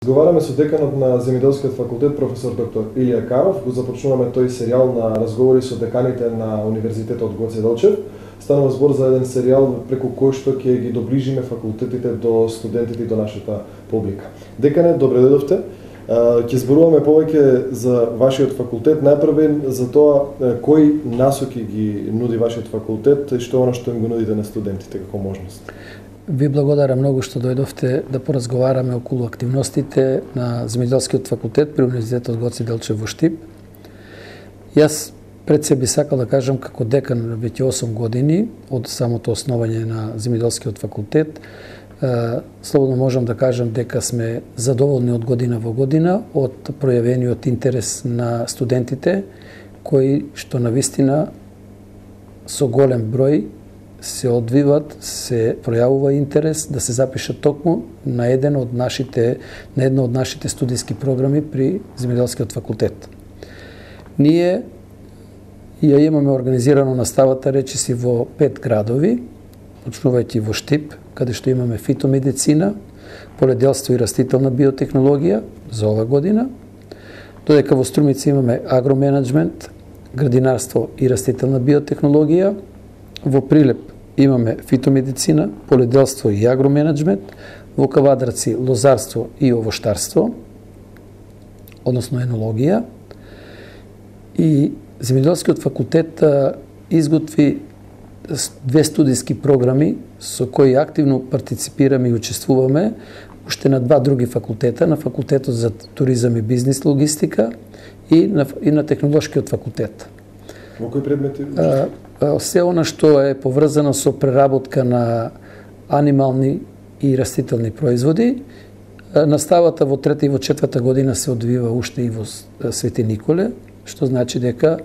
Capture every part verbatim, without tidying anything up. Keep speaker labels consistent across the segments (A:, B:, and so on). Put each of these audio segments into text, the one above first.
A: Разговараме со деканот на Земјоделскиот факултет професор доктор Илија Каров. Го започнуваме тој серијал на разговори со деканите на Универзитетот Гоце Делчев. Станува збор за еден серијал преку кој што ќе ги доближиме факултетите до студентите и до нашата публика. Декане, добре дојдовте. Ќе зборуваме повеќе за вашиот факултет, најпрвен за тоа кои насоки ги нуди вашиот факултет и што е оно што им го нудите на студентите како можност.
B: Ви благодарам многу што дојдовте да поразговараме околу активностите на Земјоделскиот факултет при Универзитетот Гоце Делчев во Штип. Јас пред се би сакал да кажам како декан веќе осум години од самото основање на Земјоделскиот факултет. Слободно можам да кажам дека сме задоволни од година во година од пројавениот интерес на студентите кои што навистина со голем број се одвиват, се пројавува интерес да се запишат токму на еден од нашите на едно од нашите студиски програми при Земјоделскиот факултет. Ние ја имаме организирано наставата речиси во пет градови, почнувајќи во Штип, каде што имаме фитомедицина, поледелство и растителна биотехнологија за ова година, додека во Струмица имаме агроменеджмент, градинарство и растителна биотехнологија, во Прилеп имаме фитомедицина, поледелство и агроменеджмент, во Кавадраци лозарство и овоштарство, односно енологија. И Земјоделскиот факултет изготви две студиски програми со кои активно партиципираме и учествуваме уште на два други факултета, на факултетот за туризам и бизнис логистика и на, и на технолошкиот факултет.
A: Во кои предмети?
B: Се она што е поврзано со преработка на анимални и растителни производи. Наставата во трета и во четврта година се одвива уште и во Свети Николе, што значи дека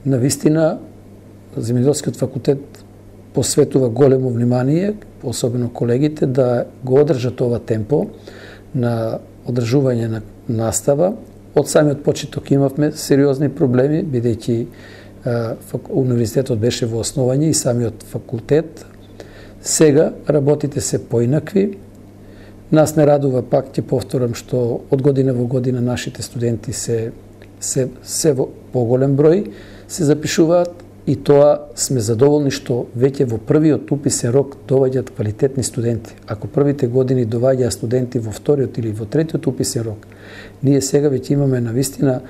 B: навистина Земјоделскиот факултет посветува големо внимание, особено колегите, да го одржат ова темпо на одржување на настава. Од самиот почеток имавме сериозни проблеми, бидејќи универзитетот беше во основање и самиот факултет. Сега работите се поинакви. Нас не радува, пак ќе повторам, што од година во година нашите студенти се се, се во поголем број се запишуваат и тоа сме задоволни што веќе во првиот уписен рок доаѓаат квалитетни студенти. Ако првите години доаѓаа студенти во вториот или во третиот уписен рок, ние сега веќе имаме навистина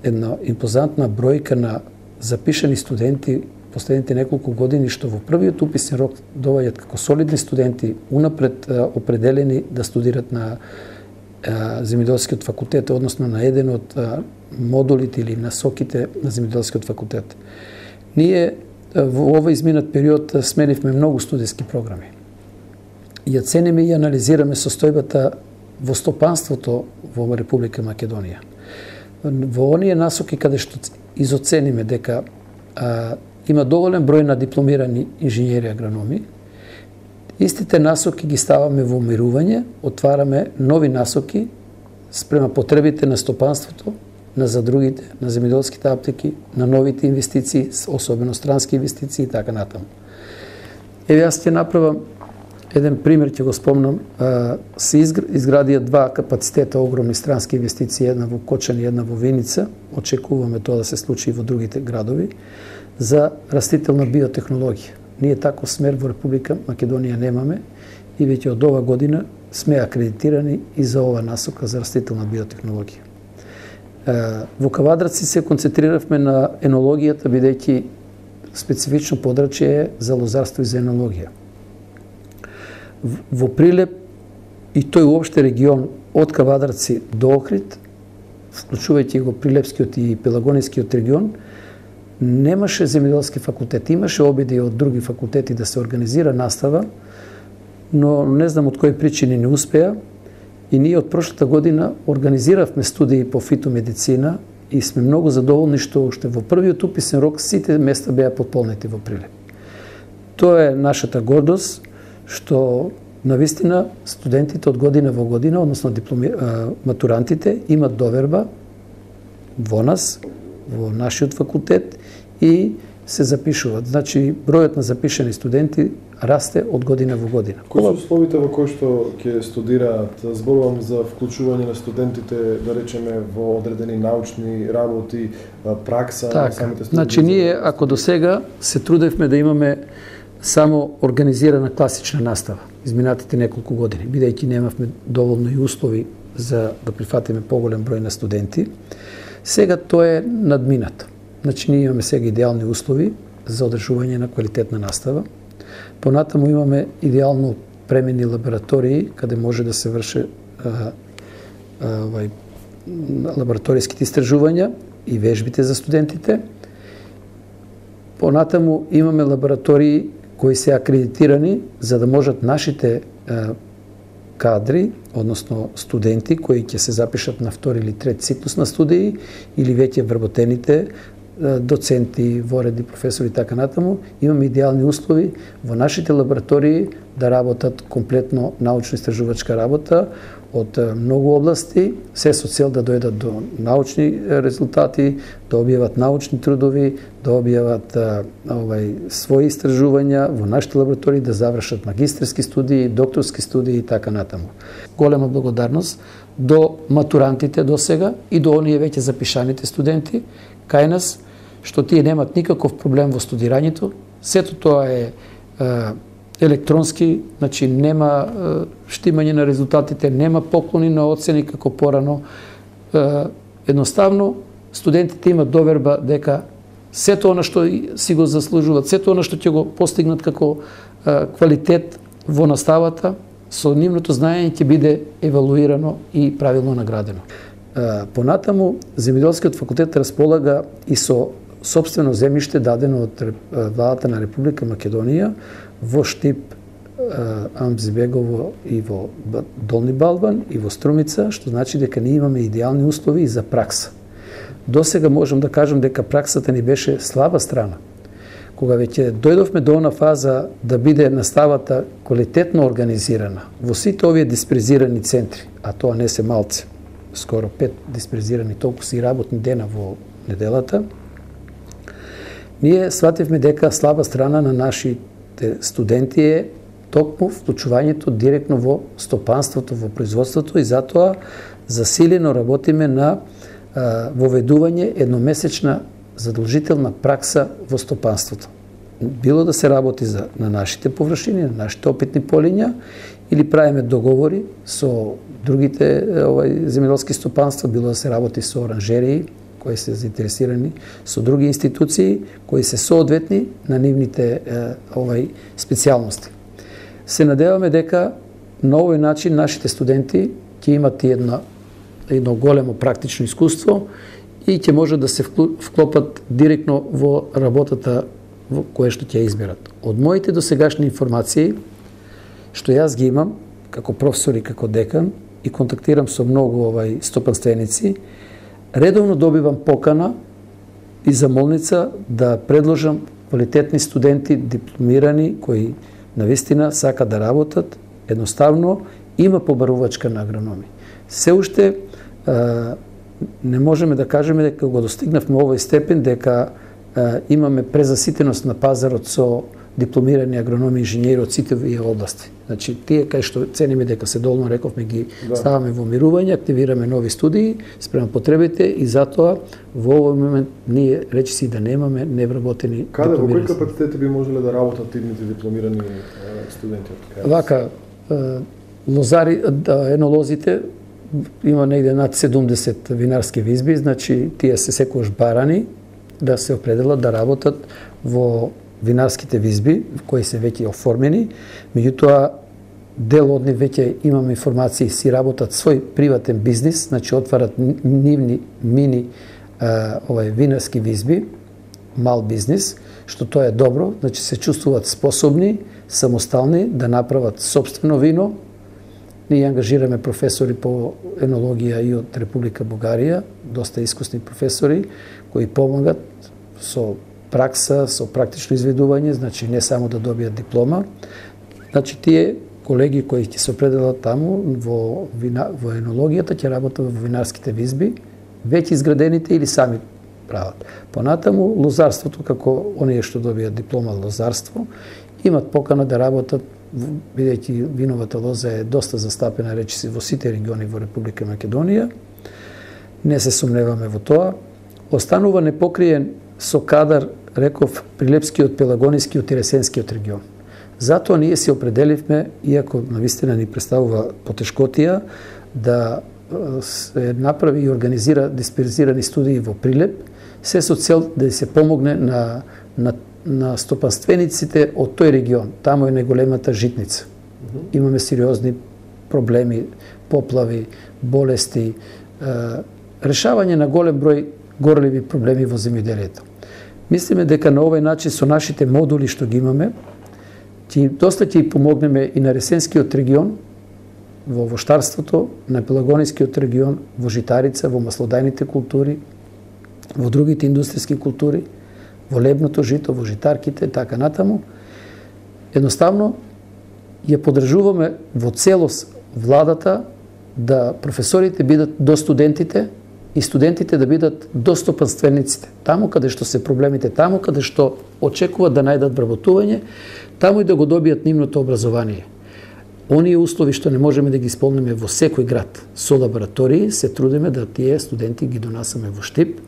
B: една импозантна бројка на запишани студенти последните неколку години што во првиот уписен рок доаѓаат како солидни студенти унапред определени да студират на Земјоделскиот факултет, односно на еден од модулите или насоките на Земјоделскиот факултет. Ние во овој изминат период сменивме многу студиски програми. Ја цениме и анализираме состојбата во стопанството во Република Македонија. Во оние насоки каде што изоцениме дека а, има доволен број на дипломирани инженери агрономи, истите насоки ги ставаме во умирување, отвараме нови насоки спрема потребите на стопанството, на задругите, на земјоделските аптеки, на новите инвестиции, особено странски инвестиции и така натаму. Еве јас ќе направам еден пример, ќе го спомнам. Се изградија два капацитета огромни странски инвестиции, една во Кочани и една во Виница. Очекуваме тоа да се случи и во другите градови за растителна биотехнологија. Ние таков смер во Република Македонија немаме и веќе од ова година сме акредитирани и за ова насока за растителна биотехнологија. Во Кавадраци се концентриравме на енологијата, бидејќи специфично подрачје е за лозарство и за енологија. Во Прилеп и тој уопште регион од Кавадраци до Охрид, вклучувајќи го Прилепскиот и Пелагонискиот регион, немаше земјоделски факултет. Имаше обиди од други факултети да се организира настава, но не знам од кои причини не успеа. И ние од прошлата година организиравме студии по фитомедицина и сме многу задоволни што уште во првиот уписен рок сите места беа потполнети во Прилеп. Тоа е нашата гордост, што навистина студентите од година во година, односно дипломи, матурантите, имат доверба во нас, во нашиот факултет и се запишуваат. Значи, бројот на запишани студенти расте од година во година.
A: Кои се условите во кои што ќе студираат? Зборувам за вклучување на студентите, да речеме, во одредени научни работи, пракса
B: така,
A: на самите студенти.
B: Значи, ние, ако до сега се трудевме да имаме само организирана класична настава, изминатите неколку години, бидејќи немавме доволно и услови за да прифатиме поголем број на студенти, сега тоа е надминато. Значи, ние имаме сега идеални услови за одржување на квалитетна настава. Понатаму имаме идеално премени лаборатории, каде може да се врше а, а, овај, лабораториските истражувања и вежбите за студентите. Понатаму имаме лаборатории кои се акредитирани за да можат нашите а, кадри, односно студенти кои ќе се запишат на втори или трет циклус на студии или веќе вработените доценти, вореди, професори и така натаму, имаме идеални услови во нашите лаборатории да работат комплетно научно-истражувачка работа од многу области, се со цел да дојдат до научни резултати, да објават научни трудови, да објават овај, своји истражувања во нашите лаборатории, да завршат магистерски студии, докторски студии и така натаму. Голема благодарност до матурантите до сега и до оние веќе запишаните студенти кај нас, што тие немат никаков проблем во студирањето. Сето тоа е, е електронски, значи нема е, штимање на резултатите, нема поклони на оцени како порано. Е, едноставно, студентите имат доверба дека сето она што си го заслужуваат, сето она што ќе го постигнат како е, квалитет во наставата, со нивното знаење ќе биде евалуирано и правилно наградено. Понатаму, Земјоделскиот факултет располага и со сопствено земјиште дадено од владата на Република Македонија во Штип, Амзбегово и во Долни Балван и во Струмица, што значи дека ние имаме идеални услови и за пракса. До сега можам да кажам дека праксата ни беше слаба страна. Кога веќе дојдовме до она фаза да биде наставата квалитетно организирана во сите овие диспрезирани центри, а тоа не се малце, скоро пет диспрезирани толку си работни дена во неделата, ние свативме дека слаба страна на нашите студенти е токму вклучувањето директно во стопанството, во производството и затоа засилено работиме на а, воведување едномесечна задолжителна пракса во стопанството. Било да се работи за, на нашите површини, на нашите опитни полиња, или правиме договори со другите овај, земјоделски стопанства, било да се работи со оранжерии, кои се заинтересирани, со други институции, кои се соодветни на нивните овај, специјалности. Се надеваме дека на овој начин нашите студенти ќе имат една, едно големо практично искуство и ќе може да се вклопат директно во работата во кое што ќе изберат. Од моите досегашни информации, што јас ги имам како професор и како декан и контактирам со многу овај стопанственици, редовно добивам покана и замолница да предложам квалитетни студенти, дипломирани, кои навистина сака да работат, едноставно има побарувачка на агрономи. Се уште а, не можеме да кажеме дека го достигнавме овој степен, дека а, имаме презаситеност на пазарот со дипломирани агрономи и инженери од сите овие области. Значи, тие кај што цениме дека се долно рековме ги да. ставаме во мирување, активираме нови студии спрема потребите и затоа во овој момент ние речиси да немаме невработени
A: Каде, во кои капацитети би можеле да работат тивните дипломирани студенти од кај?
B: Вака, лозари, енолозите, има негде над седумдесет винарски визби, значи тие се секогаш барани да се определат да работат во винарските визби, кои се веќе оформени, меѓутоа дел од нив веќе имаме информации, си работат свој приватен бизнис, значи отварат нивни мини а, овај винарски визби, мал бизнис, што тоа е добро, значи се чувствуваат способни, самостални да направат собствено вино. Ние ангажираме професори по енологија и од Република Бугарија, доста искусни професори кои помагат со пракса, со практично изведување, значи не само да добијат диплома. Значи тие колеги кои ќе се определат таму во, вина, во енологијата ќе работат во винарските визби, веќе изградените или сами прават. Понатаму, лозарството, како оние што добијат диплома лозарство, имат покана да работат, бидејќи виновата лоза е доста застапена, речиси, во сите региони во Република Македонија. Не се сомневаме во тоа. Останува непокриен со кадар, реков, Прилепскиот, Пелагонискиот и Ресенскиот регион. Затоа ние се определивме, иако навистина ни представува потешкотија, да се направи и организира дисперзирани студии во Прилеп, се со цел да се помогне на, на, на стопанствениците од тој регион. Таму е најголемата житница. Имаме сериозни проблеми, поплави, болести, решавање на голем број горливи проблеми во земјоделието. Мислиме дека на овој начин со нашите модули што ги имаме, ќе доста ќе помогнеме и на Ресенскиот регион, во воштарството, на Пелагонискиот регион, во житарица, во маслодајните култури, во другите индустријски култури, во лебното жито, во житарките, така натаму. Едноставно, ја подржуваме во целост владата да професорите бидат до студентите и студентите да бидат до стопанствениците. Таму каде што се проблемите, таму каде што очекуваат да најдат вработување, таму и да го добијат нивното образование. Оние услови што не можеме да ги исполниме во секој град со лаборатории, се трудиме да тие студенти ги донасаме во Штип,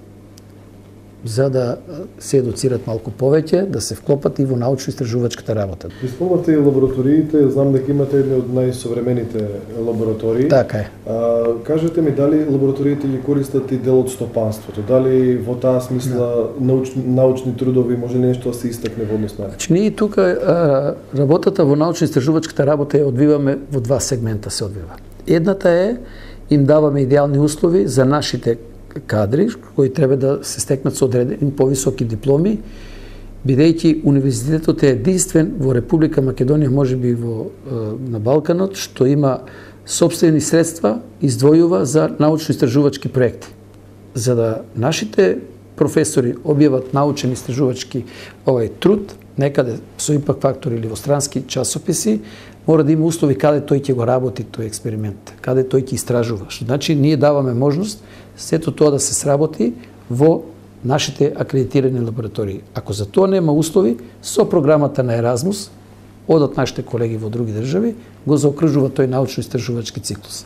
B: за да се едуцират малку повеќе, да се вклопат и во научно-истражувачката работа.
A: Исполнувате и лабораториите, знам дека имате едни од најсовремените лаборатории.
B: Така е.
A: А, кажете ми, дали лабораториите ги користат и дел од стопанството? Дали во таа смисла да. научни, научни трудови може ли нешто да се истакне во однос на?
B: Значи, ние тука а, работата во научно-истражувачката работа ја одвиваме во два сегмента се одвива. Едната е, им даваме идеални услови за нашите кадри, кои треба да се стекнат со одредени повисоки дипломи, бидејќи универзитетот е единствен во Република Македонија, можеби во на Балканот, што има сопствени средства, издвојува за научно-истражувачки проекти. За да нашите професори објават научен истражувачки овај труд, некаде со импакт фактор или во странски часописи, мора да има услови каде тој ќе го работи тој експеримент, каде тој ќе истражува. Што значи ние даваме можност сето тоа да се сработи во нашите акредитирани лаборатории. Ако за тоа нема услови, со програмата на Еразмус, одат нашите колеги во други држави, го заокружува тој научно-истражувачки циклус.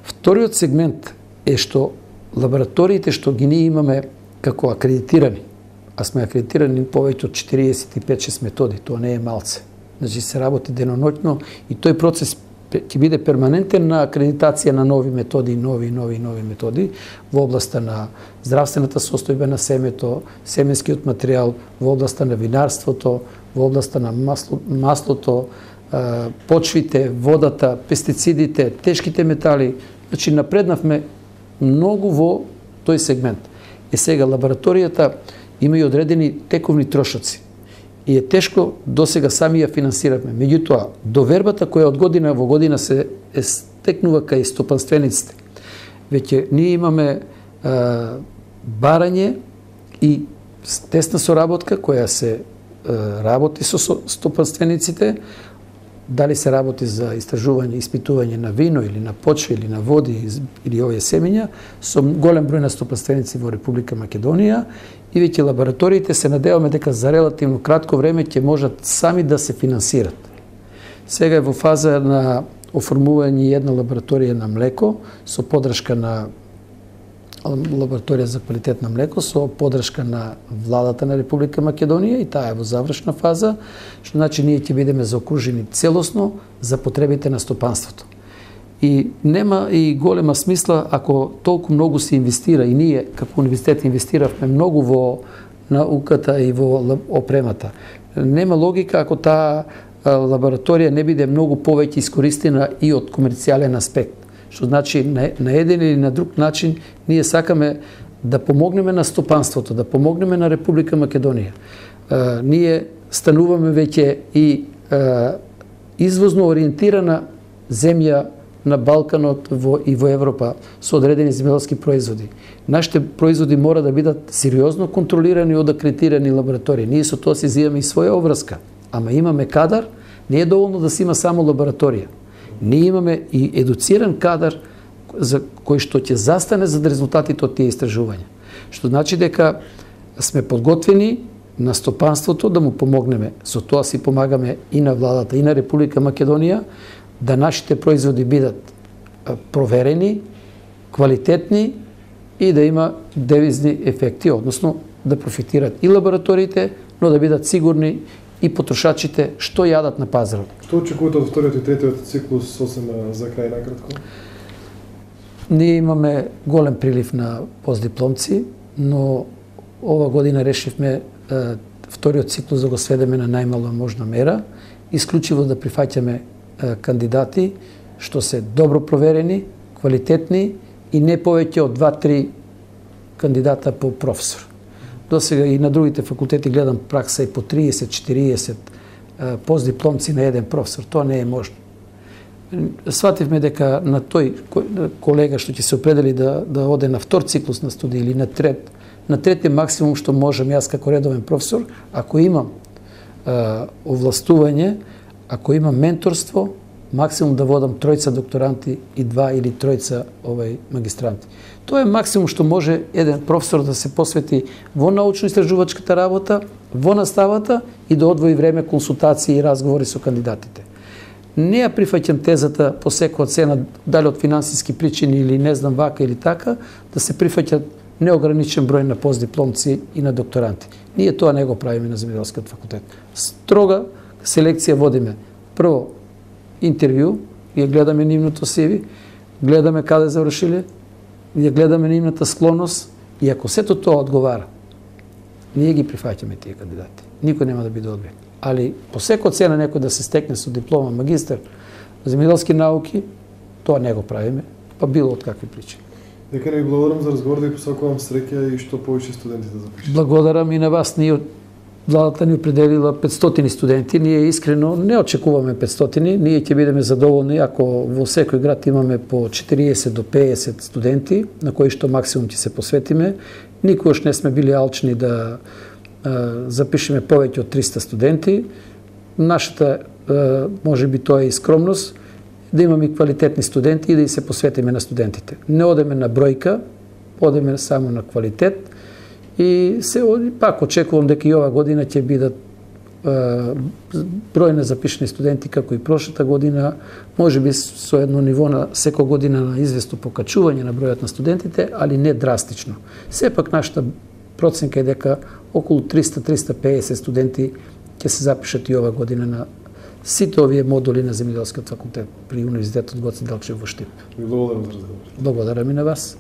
B: Вториот сегмент е што лабораториите што ги ние имаме како акредитирани, а сме акредитирани повеќе од четириесет и пет шест методи, тоа не е малце. Значи се работи деноноќно и тој процес ќе биде перманентен на акредитација на нови методи, нови, нови, нови методи во областа на здравствената состојба на семето, семенскиот материјал, во областа на винарството, во областа на масло, маслото, почвите, водата, пестицидите, тешките метали. Значи напреднавме многу во тој сегмент. Е сега лабораторијата има и одредени тековни трошоци. И е тешко досега сами ја финансиравме. Меѓутоа, довербата која од година во година се е стекнува кај стопанствениците. Веќе ние имаме а, барање и тесна соработка која се а, работи со стопанствениците, дали се работи за истражување, испитување на вино или на почва или на води или овие семења, со голем број на стопанственици во Република Македонија, и веќе лабораториите се надеваме дека за релативно кратко време ќе можат сами да се финансират. Сега е во фаза на оформување една лабораторија на млеко со подршка на лабораторија за квалитет на млеко со подршка на владата на Република Македонија, и таа е во завршна фаза, што значи ние ќе бидеме заокружени целосно за потребите на стопанството. И нема и голема смисла ако толку многу се инвестира, и ние како универзитет инвестиравме многу во науката и во опремата. Нема логика ако таа лабораторија не биде многу повеќе искористена и од комерцијален аспект. Што значи на, на еден или на друг начин ние сакаме да помогнеме на стопанството, да помогнеме на Република Македонија. Е, ние стануваме веќе и е, извозно ориентирана земја на Балканот во, и во Европа со одредени земјоделски производи. Нашите производи мора да бидат сериозно контролирани од акредитирани лаборатории. Ние со тоа си зимаме и своја обврска. Ама имаме кадар, не е доволно да се има само лабораторија. Ние имаме и едуциран кадар за кој што ќе застане за резултатите од тие истражувања. Што значи дека сме подготвени на стопанството да му помогнеме. Со тоа си помагаме и на владата, и на Република Македонија, да нашите производи бидат проверени, квалитетни и да има девизни ефекти, односно да профитират и лабораториите, но да бидат сигурни и потрошачите што јадат на пазарот.
A: Што очекувате од вториот и третиот циклус, сосем за крај накратко?
B: Ние имаме голем прилив на постдипломци, но ова година решивме е, вториот циклус да го сведеме на најмала можна мера, исклучиво да прифаќаме е, кандидати што се добро проверени, квалитетни и не повеќе од два-три кандидата по професор. До сега и на другите факултети гледам пракса и по триесет-четириесет постдипломци на еден професор. Тоа не е можно. Свативме дека на тој колега што ќе се определи да, да оде на втор циклус на студии или на трет, на трети максимум што можам јас како редовен професор, ако имам е, овластување, ако имам менторство, максимум да водам тројца докторанти и два или тројца овај магистранти. Тоа е максимум што може еден професор да се посвети во научно-истражувачката работа, во наставата и да одвои време консултации и разговори со кандидатите. Не ја прифаќам тезата по секоја цена, дали од финансиски причини или не знам вака или така, да се прифаќат неограничен број на постдипломци и на докторанти. Ние тоа не го правиме на Земјоделскиот факултет. Строга селекција водиме. Прво, интервју, ја гледаме нивното си ви, гледаме каде завршиле, ја гледаме нивната склонност и ако сето тоа одговара, ние ги прифаќаме тие кандидати. Никој нема да биде одбит. Али по секоја цена некој да се стекне со диплома магистар на земјоделски науки, тоа не го правиме, па било од какви причини.
A: Дека не ви благодарам за разговор, да ви посакувам среќа и што повеќе студенти да запишат.
B: Благодарам и на вас. Ние владата ни определила петстотини студенти. Ние искрено не очекуваме петстотини. Ние ќе бидеме задоволни ако во секој град имаме по четириесет до пеесет студенти, на кои што максимум ќе се посветиме. Никогаш не сме били алчни да а, запишеме повеќе од триста студенти. Нашата, а, може би тоа е и скромност, да имаме и квалитетни студенти и да и се посветиме на студентите. Не одеме на бројка, одеме само на квалитет. И се пак очекувам дека и ова година ќе бидат е, број на запишени студенти како и прошлата година, може би со едно ниво на секоја година на известно покачување на бројот на студентите, али не драстично. Сепак нашата проценка е дека околу триста до триста и пеесет студенти ќе се запишат и ова година на сите овие модули на Земјоделскиот факултет при Универзитетот Гоце Делчев во Штип.
A: Ви благодарам за разговор.
B: Благодарам и на вас.